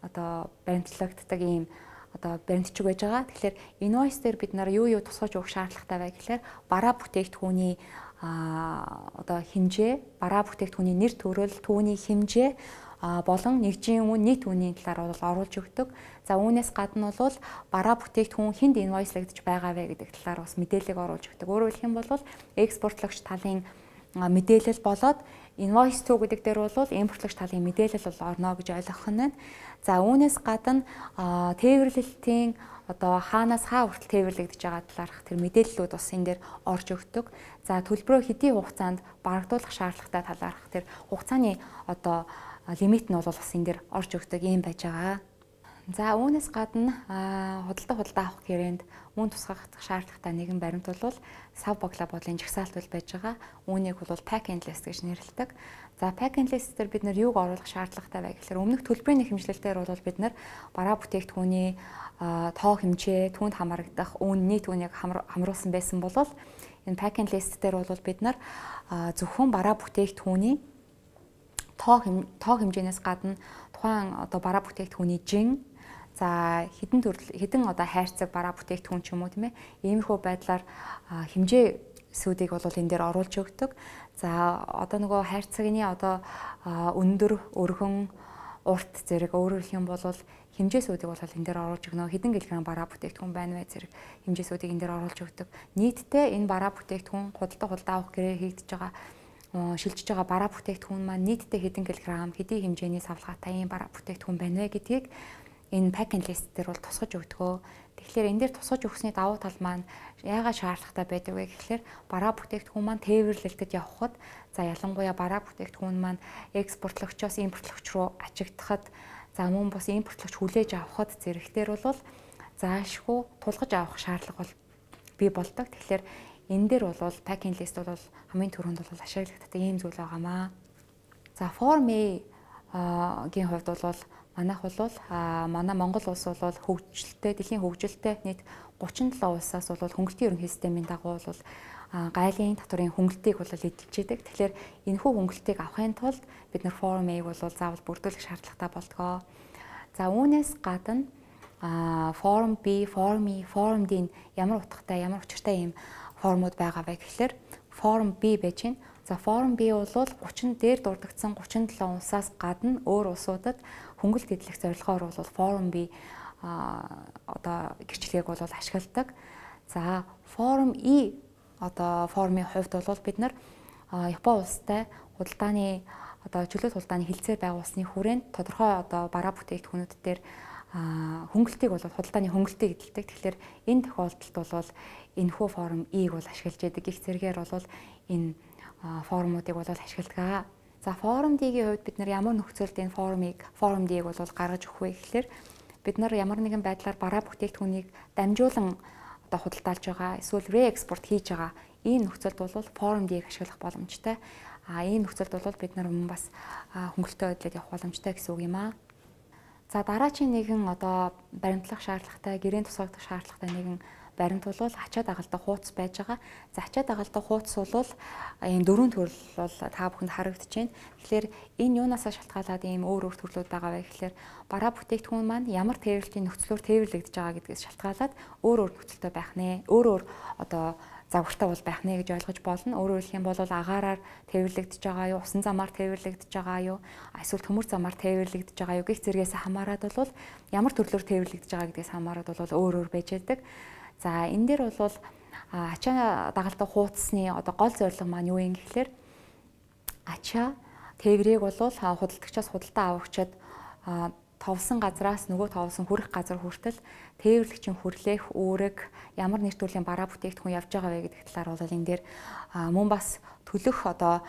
одоо баримтлагддаг ийм одоо баримтчиг байж байгаа. Тэгэхээр invoice дээр бид нар юу юу тусгаж өгөх шаардлагатай вэ гэхээр бараа бүтээгдэхүүний одоо хэмжээ, бараа бүтээгдэхүүний нэр төрөл, түүний хэмжээ болон нэгжийн үн, нийт үнийн талаар бол оруулж өгдөг. За үүнээс гадна бол бараа бүтээгдэхүүн хэнд инвойслагдж байгаа вэ гэдэг талаар бас мэдээлэл оруулж өгдөг. Өөрөөр хэлэх юм бол экспортлогч талын мэдээлэл болоод invoice to гэдэг дээр бол импортлогч талын мэдээлэл бол орно гэж ойлгох нь байна. За үүнээс гадна тээвэрлэлтийн одоо хаанаас хаа хүртэл тээвэрлэгдэж байгаа талаарх тэр мэдээллүүд бас энэ дээр орж өгдөг. За төлбөрөө хэдийн хугацаанд барагдуулах шаардлагатай талаарх тэр хугацааны одоо лимит нь бол бас энэ дээр орж өгдөг юм байж байгаа. За үүнээс гадна худалдаа худалдаа авах гэрээнд мөн тусгах шаардлагатай нэгэн баримт бол сав баглаа бодлын жагсаалт бол байж байгаа. Үүнийг бол pack and list гэж нэрлэдэг. За pack and list дээр бид нар юуг оруулах шаардлагатай вэ гэхээр өмнөх төлбөрийн хэмжлэлээр бол бид нар бараа бүтээгдэхүүний тоо хэмжээ, түүнд хамрагдах үн, нийт үнийг хамруулсан байсан бол энэ pack and list дээр бол бид нар зөвхөн бараа бүтээгдэхүүний тоо тоо хэмжээнээс гадна тухайн одоо бараа бүтээгдэхүүний жин, за хэдэн төрөл хэдэн одоо хайрцаг бараа бүтээгдэхүүн ч юм уу тийм ээ, иймэрхүү байдлаар хэмжээсүүдийг бол энэ дээр оруулж өгдөг. За одоо нөгөө хайрцагны одоо өндөр, өргөн, урт зэрэг өөрөөр хэлэх юм бол хэмжээсүүдийг бол энэ дээр оруулж өгнө. Хэдэн килограмм бараа бүтээгдэхүүн байна вэ зэрэг хэмжээсүүдийг энэ дээр оруулж өгдөг. Нийтдээ энэ бараа бүтээгдэхүүн худалдаа худалдаа авах гэрээр хийгдэж байгаа шилжиж байгаа бараа бүтээгдэхүүн маань нийтдээ хэдэн килограмм, хэдийн хэмжээний савлгаатай ийм бараа бүтээгдэхүүн байна вэ гэдгийг энэ pack and list дээр бол тусгаж өгдөгөө. Тэгэхээр энэ дээр тусгаж өгсөний давуу тал маань яагаад шаардлагатай байдаг вэ гэхээр бараа бүтээгдэхүүн маань тээвэрлэгдэж явхад, за ялангуяа бараа бүтээгдэхүүн маань экспортлогчоос импортлогч руу ачигдахад, за мөн бас импортлогч хүлээж авахд зэрэгтэр бол заашгүй тулгаж авах шаардлага бол бий болдог. Тэгэхээр энэ дээр бол pack and list бол хамгийн түрүүнд бол ашиглагддаг ийм зүйл байгаамаа. За Form A-гийн хувьд бол манайх бол манай Монгол улс бол хөгжилтэй, дэлхийн хөгжилтэй нийт гучин долоо улсаас бол хөнгөлтийн ерөнхий системийн дагуу бол гайлын татварын хөнгөлтийг бол эдэлж идэг. Тэгэхээр энэхүү хөнгөлтийг авахын тулд бид нар Form A-г бол заавал бүрдүүлэх шаардлагатай болдгоо. За үүнээс гадна Form B, Form E, Form D ямар утгатай, ямар учиртай юм формууд байгаа вэ гэхээр Form B байж гин. За Form B бол гучин дээр дурдгдсан гучин долоо улсаас гадна өөр улсуудад хөнгөлт эдлэх зорилгоор бол Form B одоо гэрчлэгийг бол ашигладаг. За Form E одоо формын хувьд бол бид нар Япон улстай худалдааны одоо чөлөөт худалдааны хилцээр байгуулсны хүрээнд тодорхой одоо бараа бүтээгдэхүүнүүд дээр хөнгөлтийг бол худалдааны хөнгөлтийг эдэлдэг. Тэгэхээр энэ тохиолдолд бол энэхүү Form E-г бол ашиглаж байдаг. Их зэрэгээр бол энэ формуудыг бол ашигладаг. За Form D-гийн хувьд бид нар ямар нөхцөлд энэ формыг Form D-г бол гаргаж өгөх вэ гэхээр бид нар ямар нэгэн байдлаар бараа бүтээгдэхүүнийг дамжуулан одоо худалдаалж байгаа, эсвэл re-export хийж байгаа ийм нөхцөлд бол Form D-г ашиглах боломжтой. А ийм нөхцөлд бол бид нар мөн бас хөнгөлөлтөө байдлаар явах боломжтой гэсэн үг юм аа. За дараагийн нэгэн одоо баримтлах шаардлагатай, гэрээний тусгагдах шаардлагатай нэгэн баримт бол ачаа дагалдах хуудас байж байгаа. За ачаа дагалдах хуудас бол ийм дөрвөн төрөл бол та бүхэнд харагдаж байна. Тэгэхээр энэ юунаас шалтгаалаад ийм өөр өөр төрлүүд байгаа вэ гэхээр бараа бүтээгдэхүүн маань ямар тээвэрлэлийн нөхцлөөр тээвэрлэгдэж байгаа гэдгээс шалтгаалаад өөр өөр нөхцөлтэй байх нэ. Өөр өөр одоо загвартай бол байх нэ гэж ойлгож болно. Өөрөөр хэлэх юм бол агаараар тээвэрлэгдэж байгаа юу, усан замаар тээвэрлэгдэж байгаа юу, эсвэл төмөр замаар тээвэрлэгдэж байгаа юу гэх зэргээс хамаарат бол ямар төрлөөр тээвэрлэгдэж байгаа гэдгээс хамаарат бол өөр өөр байж байдаг. За энэ дээр бол ачаа дагалдах хуудасны одоо гол зорилго маань юу юм гэхээр ачаа тээврийг бол худалдагчаас худалдаа авагчид товсон газраас нөгөө товсон хүрэх газар хүртэл тээвэрлэгчийн хүрлээх үүрэг, ямар нэр төрлийн бараа бүтээгдэхүүн явж байгаа вэ гэдэг талаар бол энэ дээр мөн бас төлөх одоо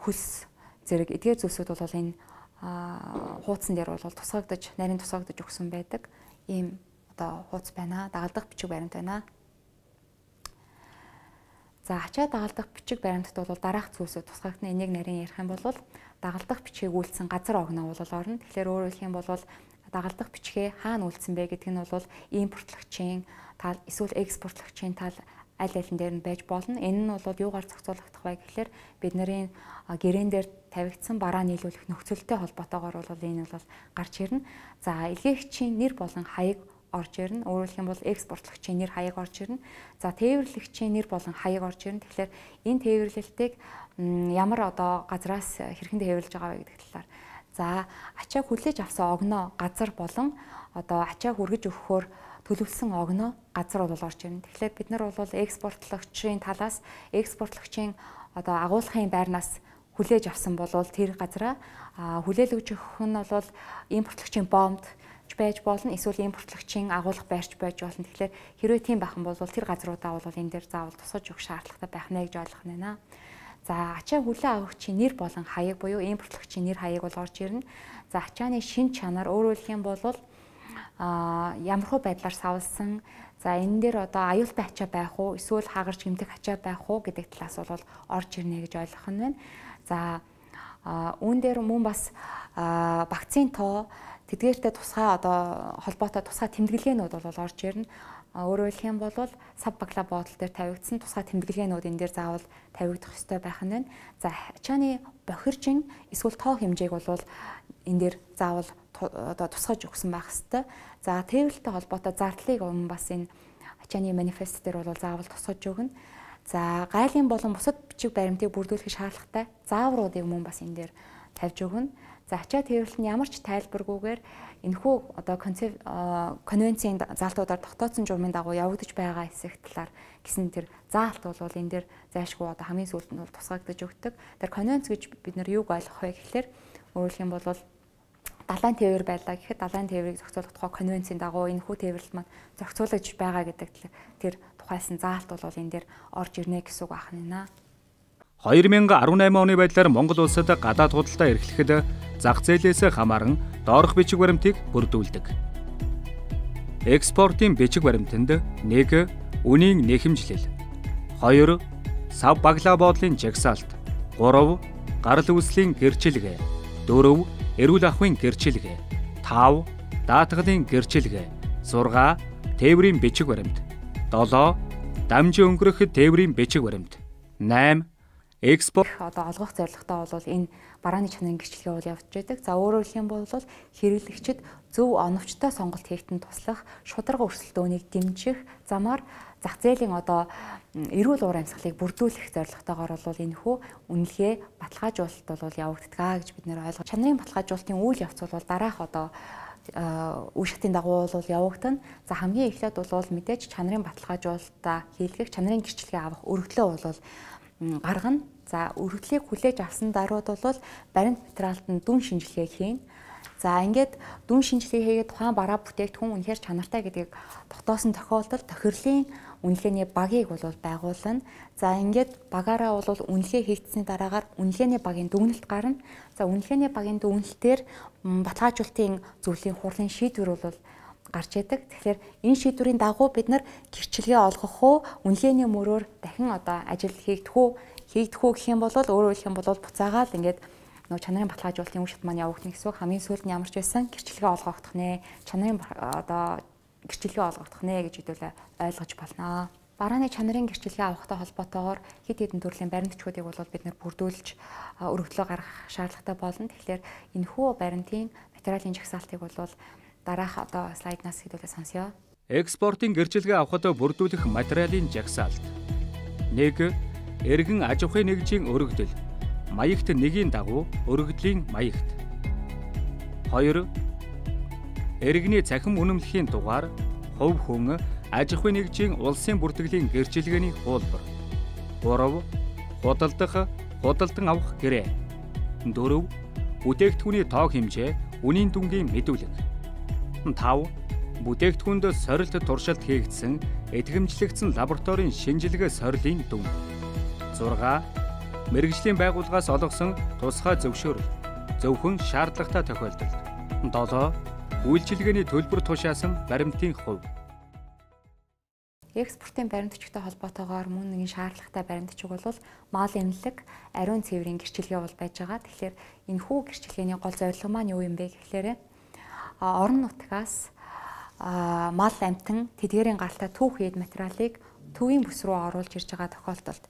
хөлс зэрэг эдгээр зүйлсүүд бол энэ хуудсан дээр бол тусгагдаж, нарийн тусгагдаж өгсөн байдаг. Ийм одоо хуудас байна. Дагалдах бичиг баримт байна. За ачаа дагалдах бичиг баримтад бол дараах зүйлсүүд тусгагдана. Энийг нарийн ярих юм бол дагалдах бичгийг үйлдсэн газар огноо бол орно. Тэгэхээр өөрөөр хэлэх юм бол дагалдах бичгээ хаана үйлдсэн бэ гэдэг нь бол импортлогчийн тал, эсвэл экспортлогчийн тал аль алин дээр нь байж болно. Энэ нь бол юугаар зохицуулагдах вэ гэхээр бидний гэрээн дээр тавигдсан бараа нийлүүлэх нөхцөлтэй холбоотойгоор бол энэ бол гарч ирнэ. За илгээгчийн нэр болон хаяг орж ирнэ. Өөрөөр хэлэх юм бол экспортлогчийн нэр хаяг орж ирнэ. За тээвэрлэгчийн нэр болон хаяг орж ирнэ. Тэгэхээр энэ тээвэрлэлтийг ямар одоо газраас хэрхэн тээвэрлэж байгаа вэ гэдэг талаар. За ачааг хүлээж авсан огноо газар болон одоо ачааг хүргэж өгөхөөр төлөвлөсөн огноо газар бол орж ирнэ. Тэгэхээр бид нар бол экспортлогчийн талаас экспортлогчийн одоо агуулгын байрнаас хүлээж авсан бол тэр газараа хүлээлгэж өгөх нь бол импортлогчийн бомд байж болно, эсвэл импортлогчийн агуулга байрч байж болно. Тэгэхээр хэрвээ тийм байх юм бол тэр газруудаа бол энэ дээр заавал тусгаж өгөх шаардлагатай байх нэ гэж ойлгох нь байна. За ачаа хүлээн авагчийн нэр болон хаяг буюу импортлогчийн нэр хаяг бол орж ирнэ. За ачааны шин чанар өөрөөр хэлэх юм бол а ямархуу байдлаар савлсан. За энэ дээр одоо аюултай ачаа байх уу, эсвэл хагарч гэмтэх ачаа байх уу гэдэг талаас бол орж ирнэ гэж ойлгох нь байна. За үүн дээр мөн бас вакцины тоо тэдгээртэй тусгай одоо холбоотой тусгай тэмдэглэгээнүүд бол орж ирнэ. Өөрөөр хэлэх юм бол сав багла бодол дээр тавигдсан тусгай тэмдэглэгээнүүд энэ дээр заавал тавигдах ёстой байх нь байна. За ачааны бохиржин эсвэл тоо хэмжээг бол энэ дээр заавал одоо тусгаж өгсөн байх ёстой. За тээвэрлэлтэй холбоотой зардлыг өмнө бас энэ ачааны манифест дээр бол заавал тусгаж өгнө. За гайлын болон бусад бичиг баримтыг бүрдүүлэх шаардлагатай заавруудыг мөн бас энэ дээр тавьж өгнө. За ачаа тээвэрлэл нь ямар ч тайлбаргүйгээр энэхүү одоо концепт конвенцийн заалтуудаар тогтоосон журмын дагуу явагдаж байгаа хэсэг талаар гэсэн тэр заалт бол энэ дээр зайлшгүй одоо хамгийн сүүлд нь бол тусгагдаж өгдөг. Тэр конвенц гэж бид нар юуг ойлгох вэ гэхээр өөрөөр юм бол далайн тээвэр байлаа гэхэд далайн тээврийг зохицуулах тухай конвенцийн дагуу энэхүү тээвэрлэл маань зохицуулж байгаа гэдэг тэр тухайсан заалт бол энэ дээр орж ирнэ гэсэн үг байна. хоёр мянган арван eight оны байдлаар Монгол улсад гадаад худалдаа эрхлэхэд зах зээлээс хамааран доорх бичиг баримтыг бүрдүүлдэг. Экспортын бичиг баримтанд нэг үнийн нэхэмжлэл, хоёр сав баглаа боодлын жагсаалт, гурав гарал үүслийн гэрчилгээ, дөрөв эрүүл ахуйн гэрчилгээ, тав даатгалын гэрчилгээ, зурга тээврийн бичиг баримт, долоо дамжин өнгөрөх тээврийн бичиг баримт, найман экспорт одоо олгох зорилготой бол энэ барааны чанарын гэрчлэгээ бол явж байдаг. За өөрөөр хэлэх юм бол хэрэглэгчид зөв оновчтой сонголт хийхэд туслах, шударга өрсөлдөөнийг дэмжих замаар зах зээлийн одоо эрүүл уур амьсгалыг бүрдүүлэх зорилготойгоор бол энэхүү үнэлгээ баталгаажуулалт бол явагддаг гэж бид нэр ойлгож. Чанарын баталгаажуулалтын үйл явц бол дараах одоо үе шатын дагуу бол явагдана. За хамгийн эхлээд бол мэдээж чанарын баталгаажуулалтаа хийлгэх, чанарын гэрчлэгээ авах өргөдлөө бол гаргана. За өргөдлийг хүлээж авсан даруйд бол баримт материалд нь дүн шинжилгээ хийнэ. За ингээд дүн шинжилгээ хийгээд тухайн бараа бүтээгдэхүүн үнэхээр чанартай гэдгийг тогтоосон тохиолдолд тохирлын үнэлгээний багийг бол байгуулна. За ингээд багаараа бол үнэлгээ хийгдсэний дараагаар үнэлгээний багийн дүгнэлт гарна. За үнэлгээний багийн дүгнэлтээр баталгаажуулалтын зөвлөлийн хурлын шийдвэр бол гарч идэг. Тэгэхээр энэ шийдвэрийн дагуу бид нар гэрчилгээ олгох уу, үнэлгээний мөрөөр дахин одоо ажил хийгдэх үү, хийгдэх үү гэх юм бол өөрөөр хэлэх юм бол буцаагаал ингээд нөгөө чанарын баталгаажуулалтын үе шат маань явагдана гэсэн үг. Хамгийн сүүлд нь ямар ч байсан гэрчилгээ олгохдох нэ, чанарын одоо гэрчилгээ олгохдох нэ гэж хэдүүлээ ойлгож болно. Барааны чанарын гэрчилгээ авахтай холбоотойгоор хэд хэдэн төрлийн баримтчуудыг бол бид нар бүрдүүлж өргөдлөө гаргах шаардлагатай болно. Тэгэхээр энэхүү баримтын материалын жагсаалтыг бол дараах одоо слайднаас хэдүүлээ сонсё. Экспортын гэрчилгээ авахд бүрдүүлэх материалын жагсаалт. нэг Эргэн аж ахуйн нэгжийн өргөдөл. Маягт нэгийн дагуу өргөдлийн маягт. хоёр Эргэний цахим үнэмлэхийн дугаар хувь хүн аж ахуйн нэгжийн улсын бүртгэлийн гэрчилгээний хуулбар. гурав Худалдах, худалдан авах гэрээ. дөрөв Бүтээгдэхүүний тоо хэмжээ, үнийн дүнгийн мэдүүлэг. тав Бүтээгдэхүүнд сорилт туршилт хийгдсэн, эдгэмжлэгдсэн лабораторийн шинжилгээ сорилын дүн. зурга Мэргэжлийн байгууллагаас олгосон тусгай зөвшөөрөл, зөвхөн шаардлагатай тохиолдолд. долоо Үйлчилгээний төлбөр тушаасан баримтын хувь. Экспортын баримтчигтай холбоотойгоор мөн нэгэн шаардлагатай баримтчиг бол мал эмнэлэг, ариун цэврийн гэрчилгээ бол байж байгаа. Тэгэхээр энэхүү гэрчилгээний гол зорилго маань юу юм бэ гэхлээрээ орон нутгаас мал амтан тэдгээрийн гаралтай түүх хэд материалыг төвийн бүс рүү оруулж ирж байгаа тохиолдолд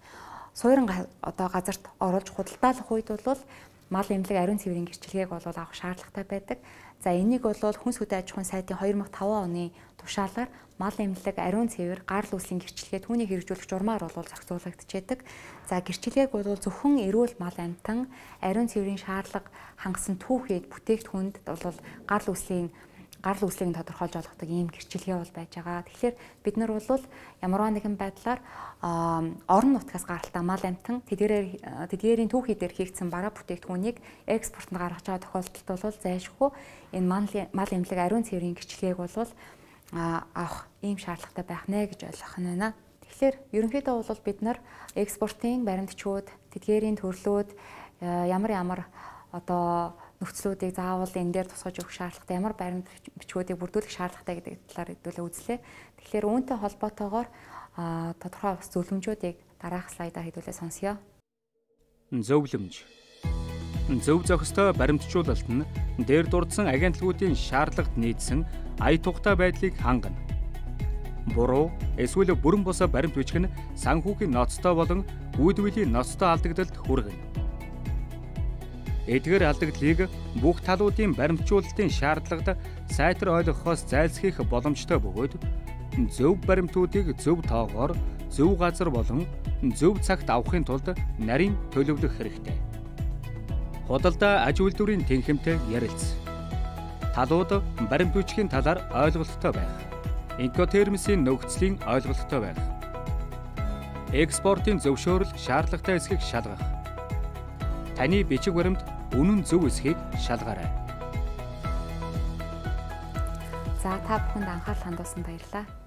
суурин одоо газарт оруулж худалдаалах үед бол мал эмнэлэг ариун цэврийн гэрчилгээг бол авах шаардлагатай байдаг. За энийг бол Хүнс хөдөө аж ахуйн сайдын хоёр мың таван оны тушаалаар мал эмнэлэг ариун цэвэр гарал үүслийн гэрчилгээ түүнийг хэрэгжүүлэх журмаар бол зохицуулагдчихэдэг. За гэрчилгээг бол зөвхөн эрүүл мал амтан ариун цэврийн шаардлага хангасан түүхийд бүтээгдэхүүнд бол гарал үүслийн гарал үүслийг тодорхойлж олгодог ийм гэрчилгээ бол байж байгаа. Тэгэхээр бид нар бол ямарваа нэгэн байдлаар орон нутгаас гаралтай мал амтан тэдгээрээр тэдгээрийн түүхий дээр хийгдсэн бараа бүтээгдэхүүнийг экспортод гаргаж байгаа тохиолдолд бол зайлшгүй энэ мал эмнэлэг ариун цэврийн гэрчилгээг бол авах ийм шаардлагатай байх нэ гэж ойлгох нь байна. Тэгэхээр ерөнхийдөө бол бид нар экспортын баримтчууд, тэдгээрийн төрлүүд ямар ямар одоо нөхцлүүдийг заавал энэ дээр тусгаж өгөх шаардлагатай, ямар баримт бичгүүдийг бүрдүүлэх шаардлагатай гэдэг талаар хэдүүлээ үзлээ. Тэгэхээр үүнтэй холбоотойгоор тодорхой бас зөвлөмжүүдийг дараах слайдаар хэдүүлээ сонсъё. Зөвлөмж. Зөв зохистой баримтжуулалт нь дээр дурдсан агентлагуудын шаардлагад нийцсэн ая тухтай байдлыг хангана. Буруу эсвэл бүрэн босоо баримт бичиг нь санхүүгийн ноцтой болон үүдвэлийн ноцтой алдагдалд хүргэнэ. Эдгээр алдагдлыг бүх талуудын баримтжуулалтын шаардлагад сайтар ойлгохоос зайлсхийх боломжтой бөгөөд зөв баримтуудыг зөв тоогоор, зөв газар болон зөв цагт авахын тулд нарийн төлөвлөх хэрэгтэй. Худалдаа аж үйлдвэрийн тэнхимтэй ярилц. Талууд баримт бичгийн талаар ойлголттой байх. Инкотермсийн нөхцөлийн ойлголттой байх. Экспортын зөвшөөрөл шаардлагатай эсхийг шалгах. Таны бичиг баримт үнэн зөв эсхийг шалгаарай. За та бүхэнд анхаарал хандуулсанд баярлалаа.